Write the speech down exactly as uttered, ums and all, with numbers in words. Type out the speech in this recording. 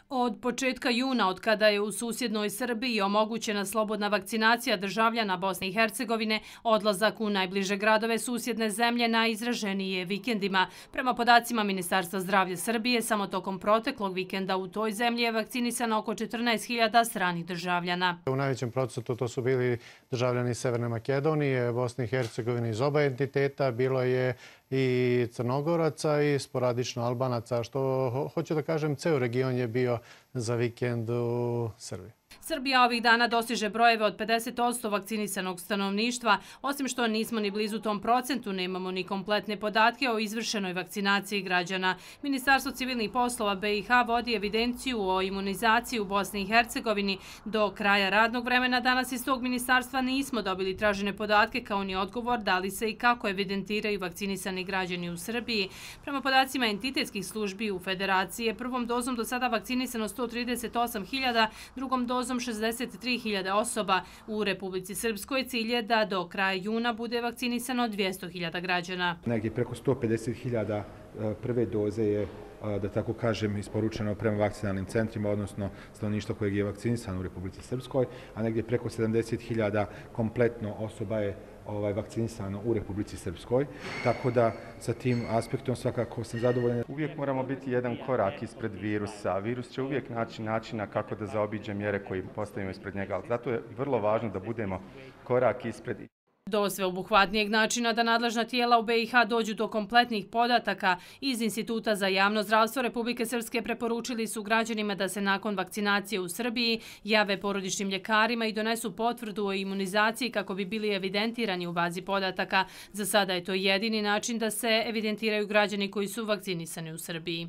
Od početka juna, od kada je u susjednoj Srbiji omogućena slobodna vakcinacija državljana Bosne i Hercegovine, odlazak u najbliže gradove susjedne zemlje najizraženiji je vikendima. Prema podacima Ministarstva zdravlja Srbije, samo tokom proteklog vikenda u toj zemlji je vakcinisano oko četrnaest hiljada stranih državljana. U najvećem procentu to su bili državljani Severne Makedonije, Bosne i Hercegovine iz oba entiteta, bilo je i Crnogoraca i sporadično Albanaca, što hoću da kažem, ceo region je bio za vikend u Srbiji. Srbija ovih dana dostiže brojeve od pedeset posto vakcinisanog stanovništva. Osim što nismo ni blizu tom procentu, nemamo ni kompletne podatke o izvršenoj vakcinaciji građana. Ministarstvo civilnih poslova B i H vodi evidenciju o imunizaciji u Bosni i Hercegovini. Do kraja radnog vremena danas iz tog ministarstva nismo dobili tražene podatke kao ni odgovor da li se i kako evidentiraju vakcinisani građani u Srbiji. Prema podacima entitetskih službi u Federaciji je prvom dozom do sada vakcinisano sto trideset osam hiljada, drugom dozom šezdeset tri hiljade osoba. U Republici Srpskoj cilj je da do kraja juna bude vakcinisano dvjesto hiljada građana. Negdje preko sto pedeset hiljada prve doze je, da tako kažem, isporučeno prema vakcinalnim centrima, odnosno stanovništvo kojeg je vakcinisano u Republici Srpskoj, a negdje preko sedamdeset hiljada kompletno osoba je ovaj, vakcinisano u Republici Srpskoj. Tako da sa tim aspektom svakako sam zadovoljan. Uvijek moramo biti jedan korak ispred virusa. Virus će uvijek naći načina kako da zaobiđe mjere koje postavimo ispred njega. Zato je vrlo važno da budemo korak ispred. Do sveobuhvatnijeg načina da nadležna tijela u B i H dođu do kompletnih podataka, iz Instituta za javno zdravstvo Republike Srpske preporučili su građanima da se nakon vakcinacije u Srbiji jave porodičnim ljekarima i donesu potvrdu o imunizaciji kako bi bili evidentirani u bazi podataka. Za sada je to jedini način da se evidentiraju građani koji su vakcinisani u Srbiji.